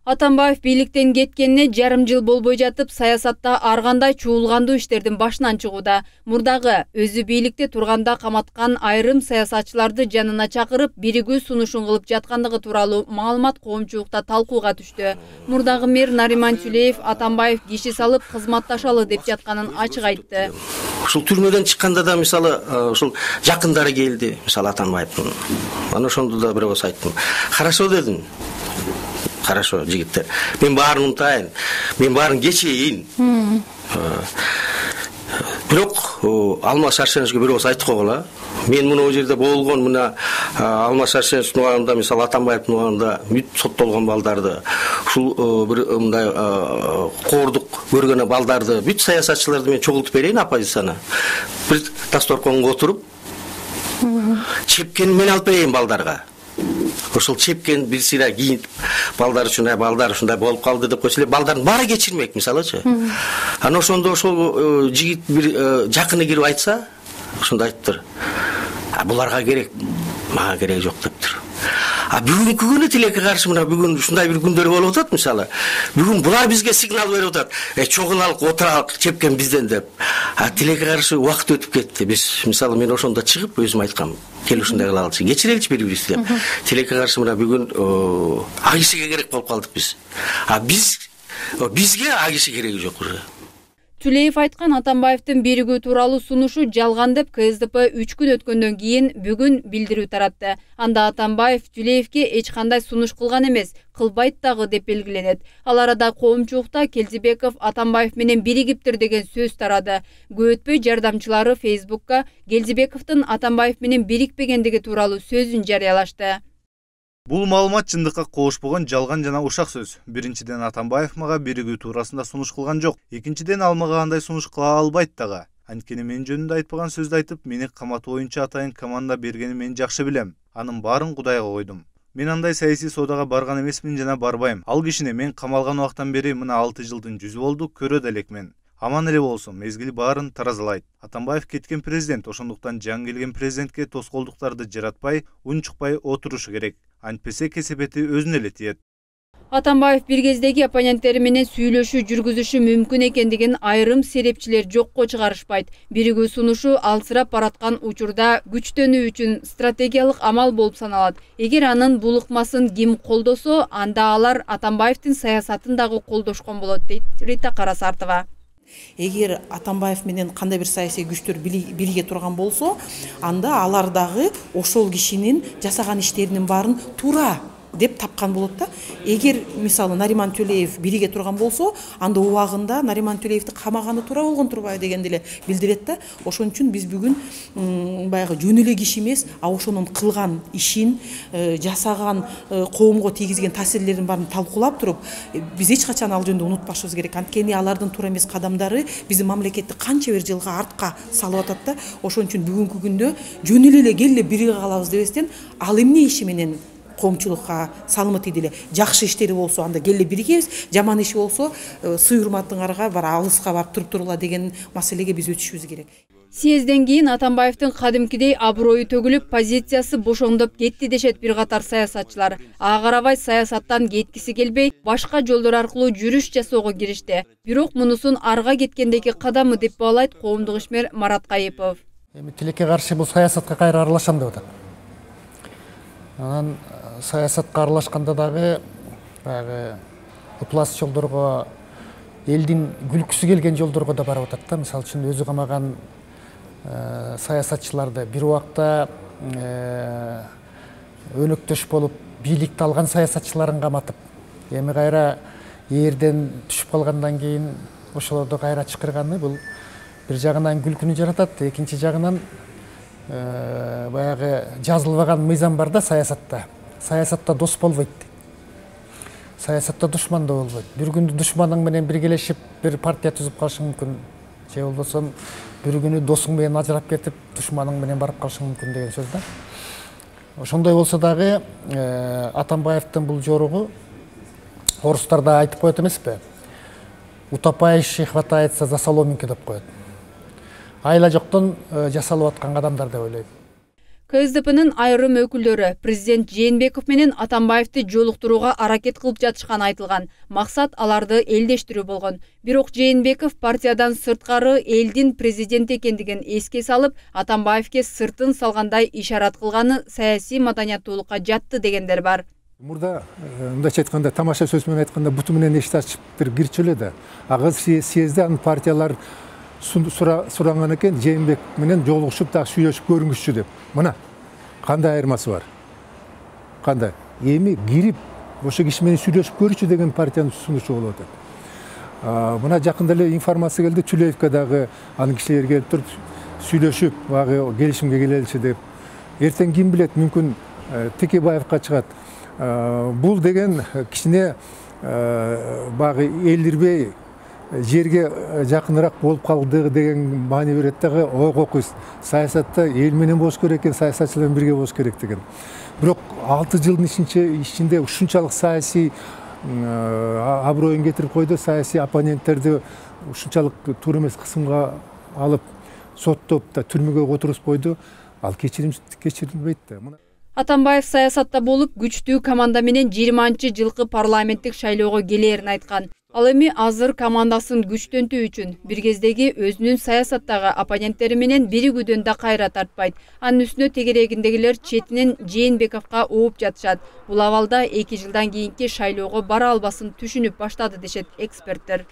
Атамбаев бийликтен кеткенине жарым жыл болбой жатып, саясатта ар кандай чуулгандуу иштердин башынан чыгууда. Мурдагы өзү бийликте турганда каматкан айрым саясатчыларды жанына чакырып, биригүү сунушун кылып жаткандыгы тууралуу маалымат коомчулукта талкууга түштү. Мурдагы мэр Нариман Тюлеев Атамбаев киши салып кызматташалы деп жатканын ачык айтты. Ушул түрмөдөн чыкканда да мисалы ушул жакындары келди, мисалы Атамбаевдин. Аны ошондо да бирөөс айттым. Хорошо дедим. Хорошо, жигиттер. Мен баарын унутайын. Мен баарын кечейин. Бирок Алмаз Шаршеновичке бирөөс айтып койгула. Мен мына жерде болгон, мына Алмаз Шаршеновичтин убагында, мисалы Атамбаевдин убагында бүт соттолгон балдарды, ушул бир мындай коордук көргөн балдарды, бүт саясатчыларды мен чогултуп берейин оппозицияны. Бир дасторконго отуруп, чепкени мен алып берейин балдарга. Ошол чепкен бир сыйра кийинип, балдар үчүн, балдар ушундай болуп калды деп койсо эле, балдардын баары кечирмек, мисалычы. Анан ошондо ошол жигит бир жакыны кирип айтса, ошондо айтыптыр. Буларга керек, мага кереги жок дептир. Бүгүнкү күнү тилекке каршы мына бүгүн ушундай бир күндөр болуп атат мисалы. Бүгүн булар бизге сигнал берип атат. Чогулалык, отуралык, чепкен бизден деп. Тилекке каршы убакыт өтүп кетти. Биз мисалы мен ошондо чыгып өзүм айткам. Кел ушундай кылалычы, кечиреличи бири-бирибизди деп. Тилекке каршы мына бүгүн ак кишиге керек болуп калдык биз. Бизге ак киши кереги жок уже. Тюлеев айткан Атамбаевдин биригүү тууралуу сунушу жалган деп КСДП 3 күн өткөндөн кийин бүгүн билдирүү таратты. Анда Атамбаев Тюлеевке эч кандай сунуш кылган эмес, кылбайт дагы деп белгиленет. Ал арада коомчулукта Келдибеков Атамбаев менен биригиптир деген сөз тарады. Көп өтпөй жардамчылары Фейсбукка Келдибековдун Атамбаев менен бирикпегендиги тууралуу сөзүн жарыялашты. Бул маалымат чындыкка кошпогон жалган жана ушак сөз. Биринчиден, Атамбаев мага биригүү туурасында сунуш кылган жок. Экинчиден, ал мага андай сунуш кыла албайт дагы. Анткени мен жөнүндө айтпаган сөздү айтып, мени каматуу боюнча атайын команда бергенин мен жакшы билем. Анын баарын Кудайга койдум. Мен андай саясий соодага барган эмесмин жана барбайм. Ал кишини мен камалган убактан бери мына 6 жылдын жүзү болду, көрө да элекмен. Аман эле болсун, мезгил баарын таразалайт. Атамбаев кеткен президент, ошондуктан жаңы келген президентке тоскоолдуктарды жаратпай, унчукпай отурушу керек. Антпесе кесепети өзүнө эле тиет. Атамбаев бир кездеги оппоненттери менен сүйлөшүү жүргүзүшү мүмкүн экендигин айрым серепчилер жокко чыгарышпайт. Биригүү сунушу алсырап бараткан учурда күчтөнүү үчүн стратегиялык амал болуп саналат. Эгер анын бул ыкмасын ким колдосо, анда алар Атамбаевдин саясатын дагы колдошкон болот, дейт Рита Карасартова. Эгер Атамбаев менен кандай бир саясий күчтөр бирге турган болсо, анда алар дагы ошол кишинин жасаган иштеринин баарын туура деп тапкан болот да. Эгер мисалы Нариман Тюлеев бирге турган болсо, анда убагында Нариман Тюлеевди камаганы туура болгон турбайбы дегенди эле билдирет да. Ошон үчүн биз бүгүн баягы жөн эле киши эмес, ошонун кылган ишин, жасаган, коомго тийгизген таасирлерин баарын талкуулап туруп, биз эч качан ал жөнүндө унутпашыбыз керек. Анткени алардын туура эмес кадамдары биздин мамлекетти канча бир жылга артка салып атат да. Ошон үчүн бүгүнкү күндө жөн эле келе бирге калабыз дебестен, ал эмне иши менен коомчулукка салымы тийди эле, жакшы иштери болсо анда келе биригебиз, жаман иши болсо сый урматыңарга бар алыска барып туруп турула деген маселеге биз өтүшүбүз керек. Съезден кийин Атамбаевдин кадимкидей аброю төгүлүп, позициясы бошоңдоп кетти дешет бир катар саясатчылар. Ага карабай саясаттан кеткиси келбей, башка жолдор аркылуу жүрүш жасоого киришти. Бирок мунусун арга кеткендеги кадамы деп баалайт коомдук ишмер Марат Кайыпов. Тилекке каршы бул саясатка кайра аралашам деп атат. Анан саясатка аралашканда дагы баягы ыплас жолдорго, элдин күлкүсү келген жолдорго да барып атат да. Мисалы үчүн өзү камаган саясатчыларды бир убакта өнөктөш болуп бийликти алган саясатчыларын каматып, эми кайра ээрден түшүп калгандан кийин ошолорду кайра чакырганы бул бир жагынан күлкүнү жаратат, экинчи жагынан баягы жазылбаган мыйзам бар да саясатта. Саясатта дос болбойт. Саясатта душман да болбойт. Бир күндү душманың менен биргелешип бир партия түзүп калышың мүмкүн. Же болбосо бир күнү досуң менен ажырап кетип, душманың менен барып калышың мүмкүн деген сөз да. Ошондой болсо дагы Атамбаевдин бул жоругу орустар да айтып коет эмеспи? Утопающий хватается за соломинки деп коет. Айла жоктон жасалып аткан кадамдар деп ойлойм. КСДПнын айрым өкүлдөрү президент Жээнбеков менен Атамбаевди жолуктурууга аракет кылып жатышканы айтылган. Максат аларды элдештирүү болгон. Бирок Жээнбеков партиядан сырткары элдин президенти экендигин эске салып, Атамбаевге сыртын салгандай ишарат кылганы саясий маданияттуулукка жатты дегендер бар. Мурда мындайча айтканда, тамаша сөз менен айтканда, буту менен эшикти ачып кирчү эле да. Ага съезде анын партиялар суранган экен, Жээнбек менен жолугушуп дагы сүйлөшүп көрүңүзчү деп. Мына кандай айырмасы бар? Кандай? Эми кирип ошо киши менен сүйлөшүп көрүчү деген партиянын сунушу болуп атат. Мына жакында эле информация келди, Чулеевке дагы анын кишилери келип туруп сүйлөшүп, багы келишимге келеличи деп. Эртең ким билет, мүмкүн Текебаевка чыгат. Бул деген кичине багы элдирбей жерге жакыныраак болуп калды деген маани берет дагы. Ойгокуй саясатта эл менен болуш керек экен, саясатчылар менен бирге болуш керек деген. Бирок 6 жылдын ичинде ушунчалык саясий аброюн кетирип койду, саясий оппоненттерди ушунчалык туура эмес кысымга алып, соттоп да түрмөгө отургузуп койду. Ал кечирилбейт да. Атамбаев саясатта болуп, күчтүү команда менен 20-жылкы парламенттик шайлоого келээрин айткан. Ал эми азыр командасын күчтөнтүү үчүн бир кездеги өзүнүн саясаттагы оппоненттери менен биригүүдөн да кайра тартпайт. Анын үстүнө тегерегиндегилер четинен Жээнбековго ооп жатышат. Бул абалда 2 жылдан кийинки шайлоого бара албасын түшүнүп баштады дешет эксперттер.